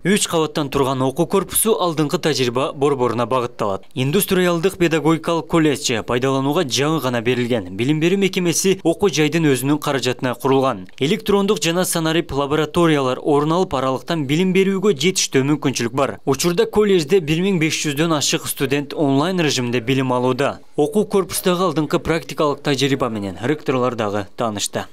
3 кабаттан турган окуу корпусу алдыңкы тажрыйба борборуна багытталат. Индустриалдык педагогикалык колледж пайдаланууга жаңы гана берилген. Билим берүү мекемеси окуу жайдын өзүнүн каражатына курулган. Электрондук жана санарип лабораториялар орун алып, аралыктан билим берүүгө жетиштүү мүмкүнчүлүк бар. Учурда колледжде 1500дөн ашык студент онлайн режимде билим алууда. Окуу корпустагы алдыңкы практикалык тажрыйба менен ректорлор дагы таанышты.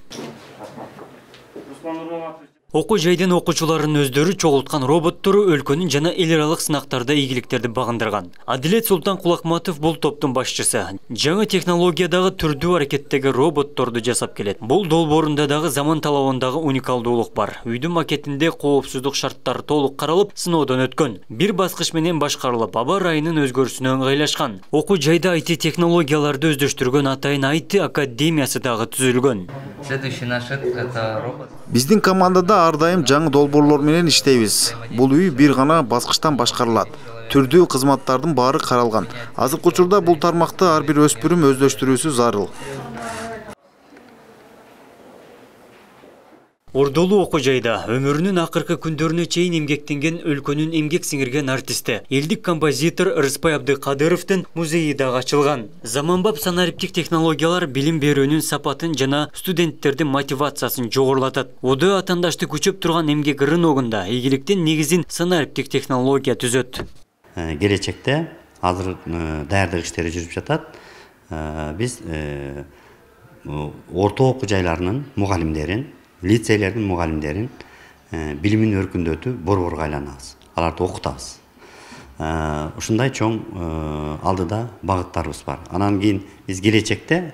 Окуу жайдын окуучуларынын өздөрү чогулткан роботтору өлкөнүн жана эл аралык сынактарда ийгиликтерди багындырган. Адилет Султан Кулакматов бул топтун башчысы. Жаңы технологиядагы түрдүү аракеттеги роботторду жасап келет. Бул долбоорунда дагы заман талабындагы уникалдуулук бар. Үйдүн макетинде коопсуздук шарттары толук каралып, сыноодон өткөн. Бир баскыч менен башкарылып, аба ырайынын өзгөрүшүнө ыңгайлашкан. Окуу жайда IT технологияларды өздөштүргөн атайын IT академиясы дагы түзүлгөн. Следующий наш это робот. Биздин командада ар дайым жаңы долбоорлор менен иштейбиз. Бул үй бир гана баскычтан башкарылат. Түрдүү кызматтардын баары каралган. Азыркы учурда бул тармакты ар бир өспүрүм өздөштүрүүсү зарыл. Ордолуу окуу жайда өмүрүнүн акыркы күндөрүнө чейин эмгектенген өлкөнүн эмгек сиңирген артисти, элдик композитор Рыспай Абдыкадыровдун музейи дагы ачылган. Заманбап санариптик технологиялар билим берүүнүн сапатын жана студенттердин мотивациясын жогорулатат. ОД атандашты күчөп турган эмгек рыногунда ийгиликтин негизин санариптик технология түзөт. Келечекте азыр даярдык иштери жүрүп жатат. Биз орто окуу жайларынын мугалимдерин, лицейлердин мугалимдерин билимин өркүндөтүү борборго айланабыз. Аларды окутабыз. Ушундай чоң алдыда багыттарыбыз бар. Анан кийин биз келечекте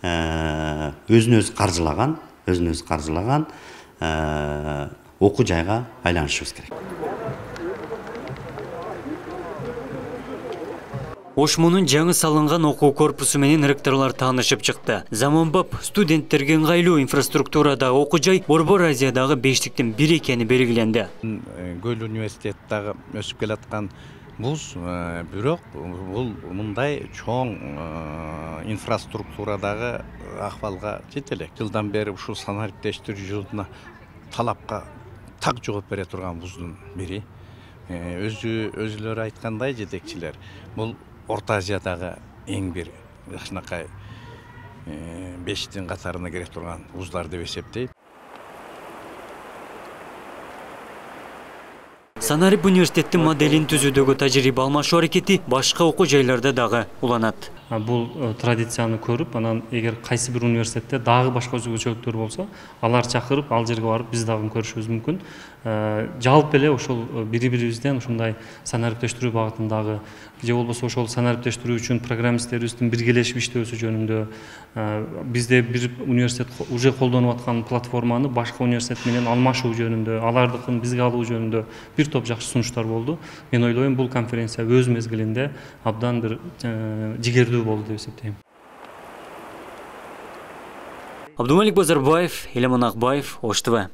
өзүн-өзү каржылаган окуу жайга айланышыбыз керек. Ошмунун жаңы салынган окуу корпусу менен ректорлор таанышып чыкты. Заманбап студенттерге ыңгайлуу инфраструктурадагы окуу жай Борбор Азиядагы бештиктин бири экени белгиленди. Көл университеттагы өсүп келаткан вуз, бирок бул мындай чоң инфраструктурадагы акыбалга жете элек. Жылдан бери ушул санариптештирүүчүлүгүнө талапка так жооп бере турган вуздун бири. Өзүлөрү айткандай жетекчилер, бул Орто Азиядагы эң бир ушунакай бештиктин катарына кире турган вуздар деп эсептейт. Санарип университеттин моделин түзүүдөгү тажрыйба алмашуу аракети башка окуу жайларда дагы уланат. Бул традицияны көрүп, анан эгер кайсы бир университетте дагы башка өзгөчөлүктөр болсо, алар чакырып, ал жерге барып биз дагы көрүшүбүз мүмкүн. Жалпы эле ошол бири-бирибизден ушундай санариптештирүү багытындагы же болбосо ошол санариптештирүү үчүн программисттерибиздин биргелешип иштөөсү жөнүндө бизде бир университет уже колдонуп аткан платформаны башка университет менен алмашуу жөнүндө, алардыкын бизге алуу жөнүндө бир топ жакшы сунуштар болду. Мен ойлойм, бул конференция өз мезгилинде абдан бир жигердүү болду деп эсептейм. Абдумалик Базарбаев, Элемон Акбаев, Ош ТВ.